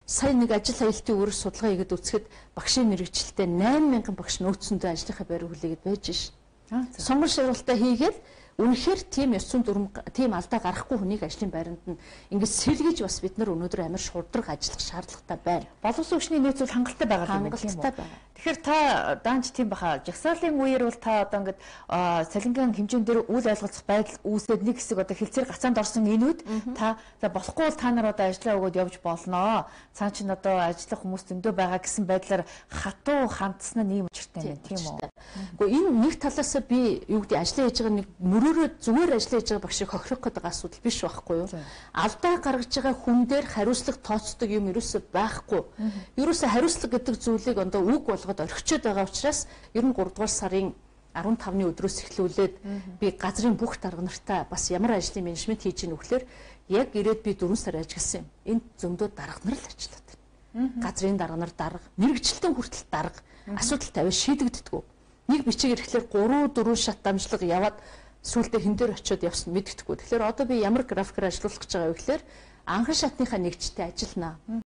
Сая нэг ажил аюултын үүрэг судалгаа хийгээд үзэхэд багшийн мэрэгчлэлтэй 8,000 багш нөөцөндөө ажлынхаа байр хүлээгээд байж шин. Сонгон шалгалтаа хийгээд үнэхээр тийм ёс зүйн дүрм тийм алдаа гарахгүй хүнийг ажлын байранд нь ингэж сэргийж бас бид нар өнөөдөр амар шударга ажиллах шаардлагатай байна. Боловсон хүчний нөөц бол хангалттай байгаа юм тийм үү? Тэгэхээр та даанч тийм баха жагсаалын үеэр бол та одоо ингээд салингийн хэмжээнд дээр үйл ойлголцох байдал үүсээд нэг хэсэг одоо хилцээр гацаанд орсон энүүд та болохгүй бол та нар одоо ажиллаа өгөөд явж болноо. Цаан чинь одоо ажиллах хүмүүс зөндөө байгаа гэсэн байдлаар хатуу хандсан нь ийм учиртай юм тийм үү? Гэхдээ энэ нэг талаас би юу гэдэг ажиллаа хийж байгаа нэг мөрөөрөө зүгээр ажиллаж байгаа багшийг хохирох гэдэг асуудал биш байхгүй юу? Алдаа гаргаж байгаа хүн дээр хариуцлага тооцдог юм ерөөсөй байхгүй. Ерөөсөй хариуцлага гэдэг зүйлийг одоо үг болгоод орхичод байгаа учраас ер нь 3 дугаар сарын 15-ны өдрөөс эхлүүлээд би газрын бүх дарга нартаа бас ямар ажлын менежмент хийж ийн вөхлөөр яг ирээд би 4 сар ажилласан юм. Энд зөндөө дарга нар л ажиллаад байна. Газрын дарга нар дарга, мэрэгчлэлтэн хүртэл дарга асуудал тавиад шийдэгддэггүй. Нэг бичиг ирэхлээр 3-4 шат дамжлага яваад сүүлдээ хэн дээр очиод явсан мэддэхгүй. Тэгэхээр одоо би ямар графикаар ажиллуулах гэж байгаа вэ гэхээр анхан шатныхаа нэгжтэй ажиллана.